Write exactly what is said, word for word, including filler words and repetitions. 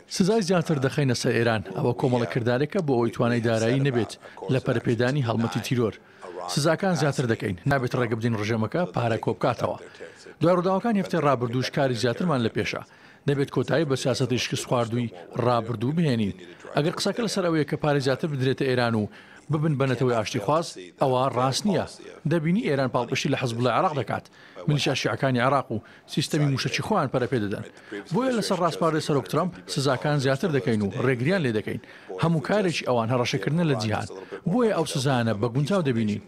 سزای زیاتر دەخەینە سەر ئێران، ئەوە کۆمەڵە کردارێکە بۆ ئەوەی توانای دارایی نەبێت لە پەرەپێدانی هەڵمەتی تیرۆر. سزاکان زیاتر دەکەین، نابێت ڕێگە بدەین ڕژێمەکە پارە کۆبکاتەوە. دوای ڕووداوەکانی هەفتەی ڕابردووش کاری زیاترمان لە پێشە. دەبێت کۆتایی بە سیاسەتی شکستخواردووی ڕابردوو بهێنین. ئەگەر قسەکە لەسەر ئەوەیە کە پارەی زیاتر بدرێتە ئێران و ببن بە نەتەوەی ئاشتیخواز، ئەوە ڕاست نییە. دەبینی ئێران پاڵپشتی لە حزبوڵای عێراق دەکات، میلیشیا شیعەکانی عێراق و سیستەمی مووشەکی خۆیان پەرەپێدەدەن. بۆیە لەسەر ڕاسپاردەی سەرۆک ترەمپ سزاکان زیاتر دەکەین و ڕێگریان لێدەکەین. هەموو کارێکی ئەوان هەڕەشەکردنە لە جیهان. بۆیە ئەو سزایانە بە گونجاو دەبینین.